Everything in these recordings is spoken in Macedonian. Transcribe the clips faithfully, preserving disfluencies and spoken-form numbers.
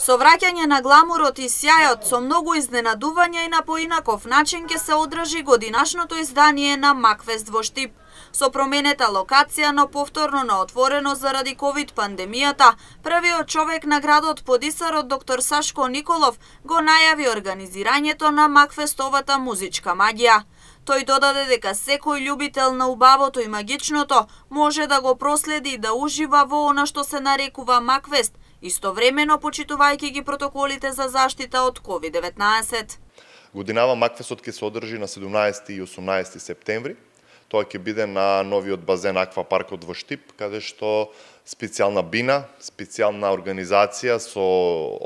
Со враќање на гламурот и сјајот, со многу изненадување и на поинаков начин ќе се одржи годинашното издание на Макфест во Штип. Со променета локација, но повторно на отворено заради ковид пандемијата, првиот човек на градот Подисарот доктор Сашко Николов го најави организирањето на Макфестовата музичка магија. Тој додаде дека секој љубител на убавото и магичното може да го проследи и да ужива во она што се нарекува Макфест, истовремено почитувајќи ги протоколите за заштита од ковид деветнаесет. Годинава Макфестот ќе се одржи на седумнаесети и осумнаесети септември. Тоа ќе биде на новиот базен Аквапаркот во Штип, каде што специјална бина, специјална организација со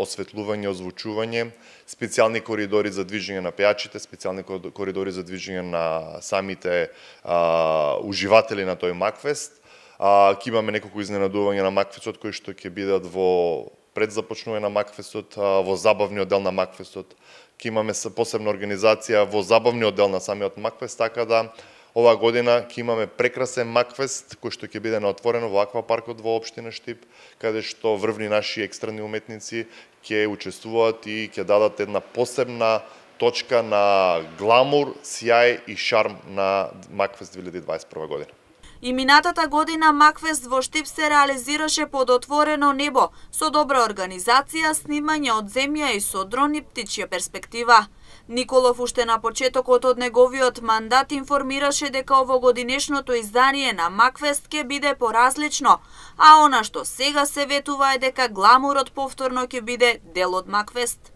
осветлување, озвучување, специјални коридори за движење на пејачите, специјални коридори за движење на самите а, уживатели на тој Макфест. А, ќе имаме неколку изненадувања на Макфестот кои што ќе бидат во пред започнување на Макфестот, во забавниот дел на Макфестот. Ќе имаме посебна организација во забавниот дел на самиот Макфест, така да оваа година ќе имаме прекрасен Макфест кој што ќе биде на отворено во Аквапаркот во општина Штип, каде што врвни наши екстрени уметници ќе учествуваат и ќе дадат една посебна точка на гламур, сјај и шарм на Макфест две илјади дваесет и прва година. И минатата година Макфест во Штип се реализираше под отворено небо, со добра организација, снимање од земја и со дрон и птичја перспектива. Николов уште на почетокот од неговиот мандат информираше дека овогодинешното издание на Макфест ќе биде поразлично, а она што сега се ветува е дека гламурот повторно ќе биде дел од Макфест.